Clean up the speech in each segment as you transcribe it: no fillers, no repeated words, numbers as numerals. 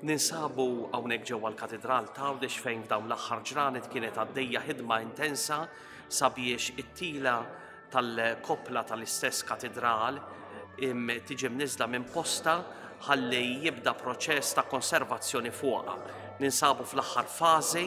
Ninsabu hawnhekk ġewwa l-Katidral t'Għawdex fejn f'dawn l-aħħar ġranet kienet għaddejja ħidma intensa sabiex it-tila tal-koppla tal-istess katidral tiġi mniżla minn posta ħalli jibda proċess ta' konservazzjoni fuqha. Ninsabu fl-aħħar fażi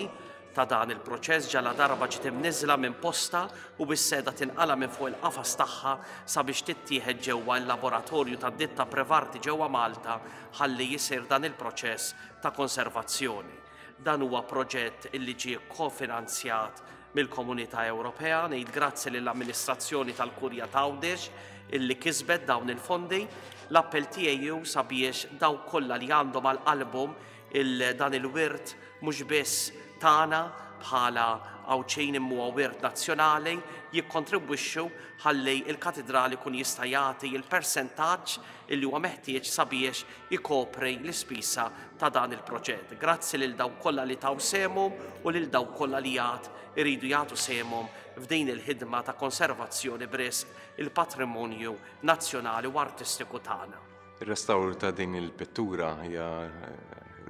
ta' dan il-proċess ġaladarba ġiet imniżżla minn postha u bis-seda tinqala' minn fuq il-qafas tagħha sabiex tittieħed ġewwa il-laboratorju tad-ditta Prevarti ġewwa Malta ħalli jsir dan il-proċess ta' konservazzjoni. Dan huwa proġett illi ġie kofinanzjat mill-Komunità Ewropea. Ngħid grazzi lill-amministrazzjoni tal-Kurja t'Għawdex illi kisbet dawn il-fondi. L-appell tiegħi hu sabiex dawk kollha li għandhom għal qalbhom il dan il-wirt mhux biss tagħna bħala Għawdxin imma huwa wirt nazzjonali, jikkontribwixxu ħalli l-Katidral ikun jista' jagħti l-persentaġġ illi huwa meħtieġ sabiex ikopri l-ispisa ta' dan il-proġett. Grazzi lil dawk kollha li taw sehemhom u lil dawk kollha li għad iridu jagħtu sehemhom f'din il-ħidma ta' konservazzjoni b'risq il-patrimonju nazzjonali u artistiku tagħna. Ir-restawr ta' din il-pittura hija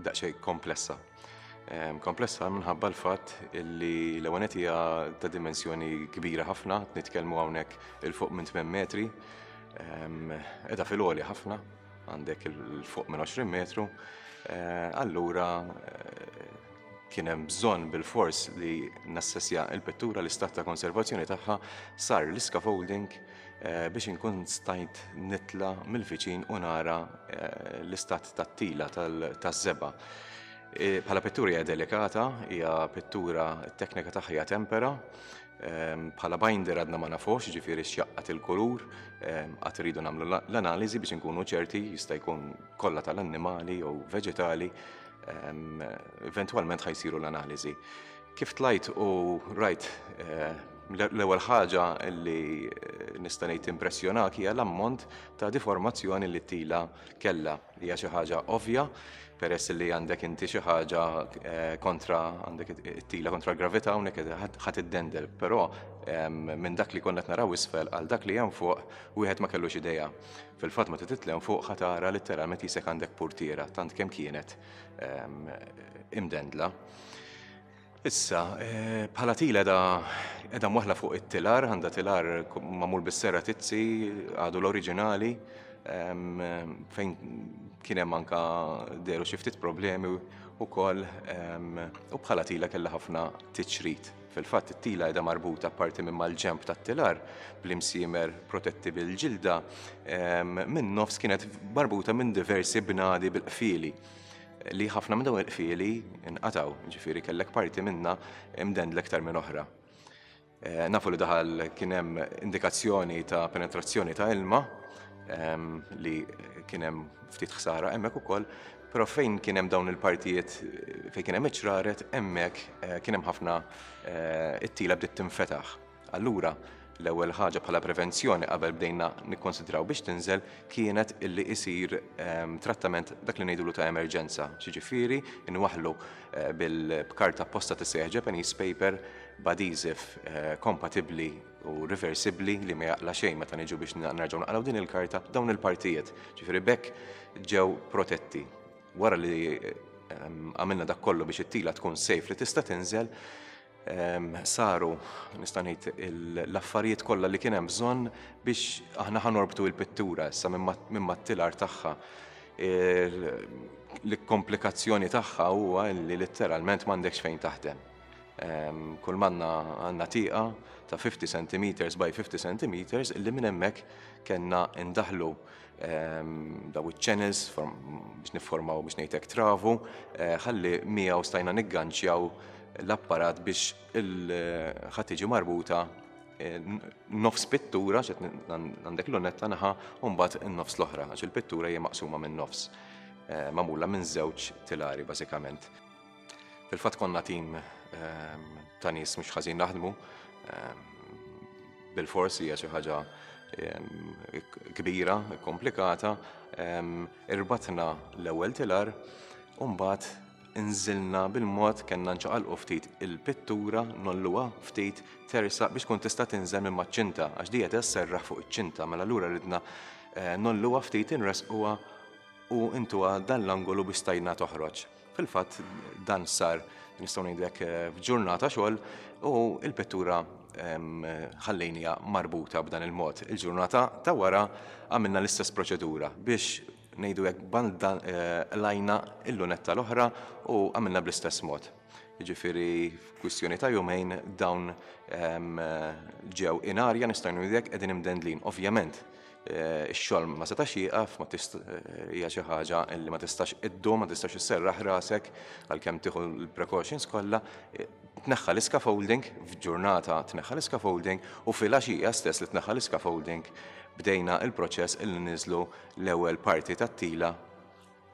daqsxejn komplessa. Komplessa minħabba l-fatt li l-ewwel nett hija ta' dimensjoni kbira ħafna, nitkellmu hawnhekk il fuq minn 8 metri, qiegħda fil-għoli ħafna, għandek il fuq minn 20 metru, allura kien hemm bżonn bilfors li nassessja l-pittura, l-istat ta' konservazzjoni tagħha, sar l-iscaffolding, biex inkun stajt nitla' mill-viċin u nara l-istat tat-tila taż-żebgħa. Bħala pittura hija delikata, hija pittura t-teknika tagħha hija tempera. Bħala binder għadna ma nafux, jiġifieri x'jaqqad il-kulur, għad irridu nagħmlu l-analiżi biex inkunu ċerti, jista' jkun kollha tal-annimali jew veġetali, eventwalment ħa jsiru l-analiżi. Kif tlajt u rajt l-ewwel ħaġa li nista' ngħid impressjonak hija l-ammont ta' diformazzjoni li t-tila kellha. Hija xi ħaġa ovvja peress li għandek inti xi ħaġa kontra għandek it-tila kontra l-gravità hawnhekk ħa tiddendel, però minn dak li konna qed naraw isfel għal dak li hemm fuq wieħed ma kellux idea. Fil-fatt meta titla' hemm fuq ħa tara litteralment qisek għandek purtiera tant kemm kienet imdendla. Issa, bħala tila edha edha mwaħla fuq it-tilar, għandha tilar magħmul bis-serra tizzi, għadu l-oriġinali, fejn kien hemm anka dehru xi ftit problemi wkoll u bħala tila kellha ħafna tiċrit. Fil-fatt it-tila qiegħda marbuta apparti minn mal-ġenb tat-tilar bl-imsiemer protetti bil-ġilda, min-nofs kienet marbuta minn diversi bnadi bil-qfieli. Li ħafna minn dawn il-qfieli nqatgħu, ġifieri kellek parti minnha imdendla iktar minn oħra. Eh, nafu li daħal kien hemm indikazzjoni ta' penetrazzjoni ta' ilma ehm, li kien hemm ftit ħsara hemmhekk ukoll, però fejn kien hemm dawn il-partijiet fejn kien hemm iċ-ċraret hemmhekk eh, kien hemm ħafna eh, it-tila bdiet tinfetaħ. Allura, l-ewwel ħaġa bħala prevenzjoni qabel bdejna nikkonsidraw biex tinżel kienet illi isir ehm, trattament dak li ngħidulu ta' emerġenza. Xiġifieri nwaħħlu eh, bil-karta apposta tissejjaħ Japanese paper b'adhesive eh, kompatibbli u reversibbli li ma jaqla xejn meta niġu biex nerġgħu naqraw din il-karta dawn il-partijiet. Ġifieri b'hekk ġew protetti. Wara li ehm, għamilna dak kollu biex it-tila tkun safe li tista' tinżel, Saru, nista' ngħid, l-affarijiet kollha li kien hemm bżonn biex aħna ħa norbtu l-pittura issa minn mat-tilar tagħha. L-komplikazzjoni tagħha huwa li litteralment m'għandekx fejn taħdem. Kull m'għandna għandna tieqa ta' 50 centimeters by 50 centimeters illi minn hemmhekk kellna ndaħħlu daw iċ-channels biex nifformaw biex ngħidlek travu ħalli miegħu stajna nigganċjaw l-apparat biex ħa tiġi marbuta nofs pittura, xed għandek l-lunetta naħa u mbagħad in-nofs l-oħra, għax il-pittura hija maqsuma minn nofs, magħmula minn żewġ tilari bażikament. Fil-fatt konna tim ta' nies mhux ħażin naħdmu, bilfors hija xi ħaġa kbira, komplikata, irbatna l-ewwel tilar u mbagħad Inżilna bil-mod, kellna nċaqalqu ftit il-pittura, ngħolluha ftit, tersaq biex tkun tista' tinżel minn maċ-ċinta, għax di qiegħda sserraħ fuq iċ-ċinta, mela allura ridna ngħolluha ftit, inressquha. u intuha dan l-angolu biex stajna toħroġ. Fil-fatt dan sar nistgħu ngħidu hekk eh, f'ġurnata xogħol u l-pittura ħallejnija marbuta b'dan il-mod. Il-ġurnata ta' wara għamilna l-istess proċedura biex ngħidu hekk banda eh, lajna il-lunetta l-oħra u għamilna bl-istess mod. Jiġifieri f'kwistjoni ta' jumejn dawn ġew in arja nistgħu ngħidu hekk qegħdin imdendlin. Ovvjament Ix-xogħol ma setax jieqaf, ma hija xi ħaġa li ma tistax iddum, ma tistax isserraħ rasek għalkemm tieħu l-precautions kollha. Tneħħa l-iscaffolding, f'ġurnata tneħħa l-iscaffolding u filgħaxija stess li tneħħa l-iscaffolding bdejna l-proċess illi niżlu l-ewwel parti tat-tila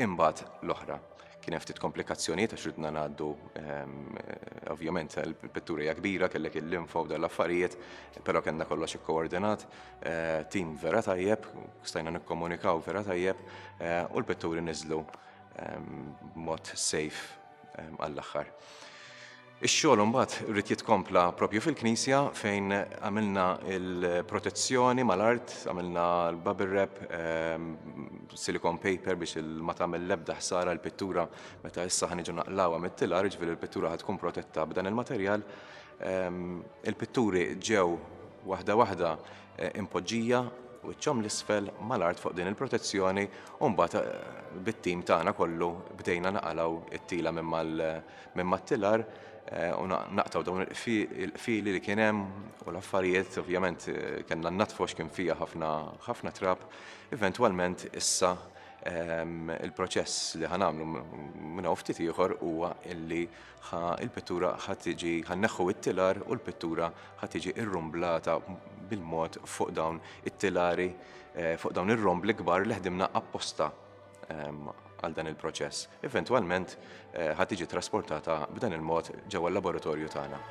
Imbagħad l-oħra. Kien hemm ftit komplikazzjonijiet għax ridna ngħaddu ehm, ovvjament il-pittura hija kbira, kellek il-linfa u dal-affarijiet, però kellna kollox ikkoordinat, eh, tim vera tajjeb, stajna nikkomunikaw vera tajjeb eh, u l-pitturi niżlu ehm, b'mod safe ehm, għall-aħħar. Ix-xogħol imbagħad ried jitkompla propju fil-knisja fejn għamilna l-protezzjoni mal-art, għamilna l-bubble wrap, ehm, silicone paper biex ma tagħmel l-ebda ħsara l-pittura meta issa ħa niġu naqlawha mit-tilar, jiġifieri l-pittura ħa tkun protetta b'dan il-materjal. Ehm, il-pitturi ġew waħda waħda eh, impoġġija wiċċhom l-isfel mal-art fuq din il-protezzjoni u mbagħad eh, bit-tim tagħna kollu bdejna naqalgħu it-tila minn mal minn mat-tilar u naqtgħu dawn il-qfieli li kien hemm u l-affarijiet, ovvjament kellna nnaddfu għax kien fiha ħafna ħafna trab. Eventwalment issa il-proċess li ħa nagħmlu minn hawn ftit ieħor huwa illi il-pittura ħa tiġi ħa nneħħu t-tilar u l-pittura ħa tiġi rrumblata bil-mod fuq dawn it-tilari fuq dawn ir-rombli kbar li ħdimna apposta għal dan il-proċess. Eventwalment ħa tiġi trasportata b'dan il-mod ġewwa l-laboratorju tagħna.